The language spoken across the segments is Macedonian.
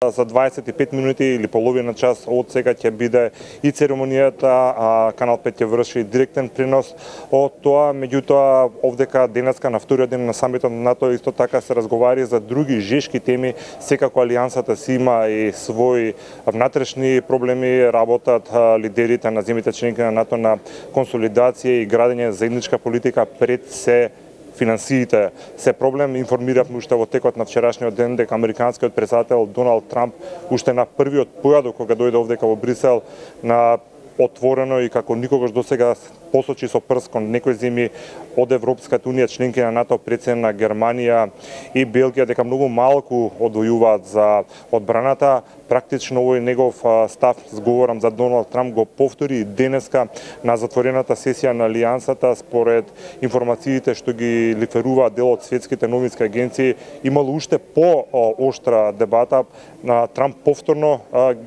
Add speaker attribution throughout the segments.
Speaker 1: За 25 минути или половина час од сега ќе биде и церемонијата, Канал 5 ќе врши директен пренос од тоа. Меѓутоа, овдека денеска на вториот ден на самитот на НАТО исто така се разговари за други жешки теми. Секако алијансата си има и своји внатрешни проблеми, работат лидерите на земјите членки на НАТО на консолидација и градење заедничка политика пред се финансиите се проблем. Информиравме уште во текот на вчерашниот ден дека американскиот претседател Доналд Трамп уште на првиот појадок кога дојде овдека во Брисел на отворено и како никогаш досега посочи со прст кон некои земји од Европската унија, членки на НАТО, председен на Германија и Белгија, дека многу малку одвојуваат за одбраната. Практично овој негов став, зговорам за Доналд Трамп, го повтори денеска на затворената сесија на Алијансата. Според информациите што ги лиферуваат дел од светските новински агенции, имало уште по-оштра дебата. Трамп повторно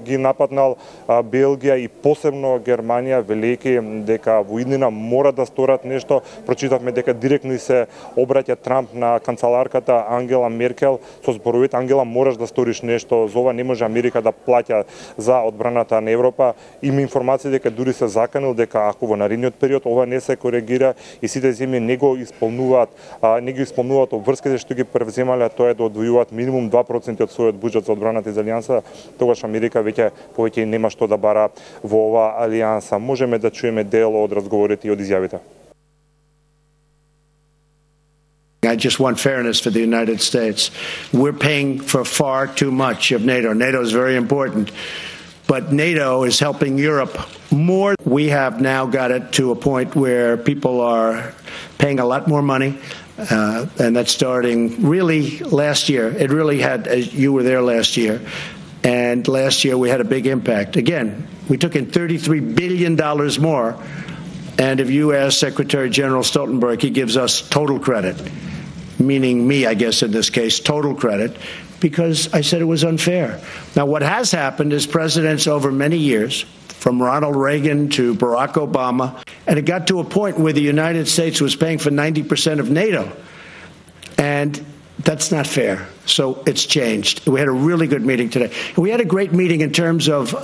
Speaker 1: ги нападнал Белгија и посебно Германија, велејќи дека во иднина мора да сторат нешто. Прочитавме дека директно се обраќа Трамп на канцеларката Ангела Меркел со зборовите: Ангела, мораш да сториш нешто, за ова не може Америка да плаќа за одбраната на Европа. Има информации дека дури се заканил дека ако во наредниот период ова не се коригира и сите земји не ги исполнуваат обврските што ги превземале, тоа е да одвојуваат минимум 2% од својот буџет за одбраната за алијанса, тогаш Америка повеќе нема што да бара во ова алијанса. Можеме да чуеме дел од разговорите и од изјавите.
Speaker 2: I just want fairness for the United States. We're paying for far too much of NATO. NATO is very important, but NATO is helping Europe more. We have now got it to a point where people are paying a lot more money, and that's starting really last year. It really had, as you were there last year, and last year we had a big impact. Again, we took in $33 billion more, and if you ask Secretary General Stoltenberg, he gives us total credit, meaning me, I guess, in this case, total credit, because I said it was unfair. Now, what has happened is presidents over many years, from Ronald Reagan to Barack Obama, and it got to a point where the United States was paying for 90% of NATO, and that's not fair. So it's changed. We had a really good meeting today. We had a great meeting in terms of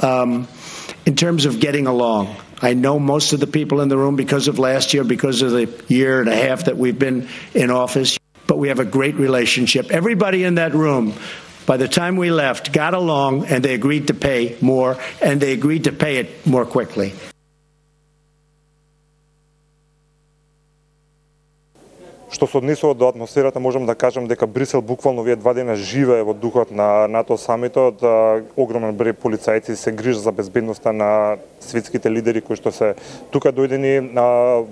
Speaker 2: getting along. I know most of the people in the room because of last year, because of the year and a half that we've been in office, but we have a great relationship. Everybody in that room, by the time we left, got along, and they agreed to pay more, and they agreed to pay it more quickly.
Speaker 1: Што се однесува до атмосферата, можам да кажам дека Брисел буквално овие 2 дена живее во духот на НАТО самитот. Огромен број полицајци се грижат за безбедноста на светските лидери кои што се тука дојдени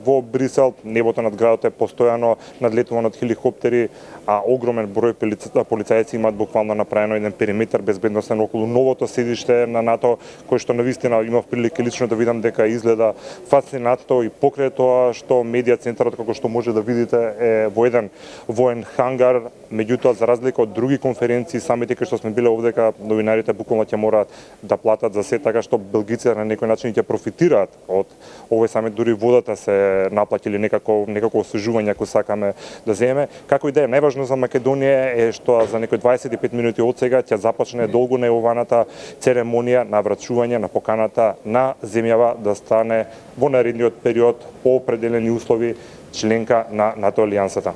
Speaker 1: во Брисел. Небото над градот е постојано надлетувано од хеликоптери, а огромен број полицајци имаат буквално направено еден периметар безбедносен околу новото седиште на НАТО, кој што навистина имав прилика лично да видам дека изгледа фасцинантно и покрај тоа што медија центарот, како што може да видите, е во еден воен хангар. Меѓутоа, за разлика од други конференции, самити кои што сме биле овдека, новинарите буквално ќе мораат да платат за се, така што белгиците на некој начин ќе профитираат од овој самит, дури водата се наплатили некако освежување ако сакаме да земеме. Како и да е, најважно за Македонија е што за некои 25 минути од сега ќе започне долго најаваната церемонија на врачување на поканата на земјава да стане во наредниот период по определени услови членка на НАТО алијансата.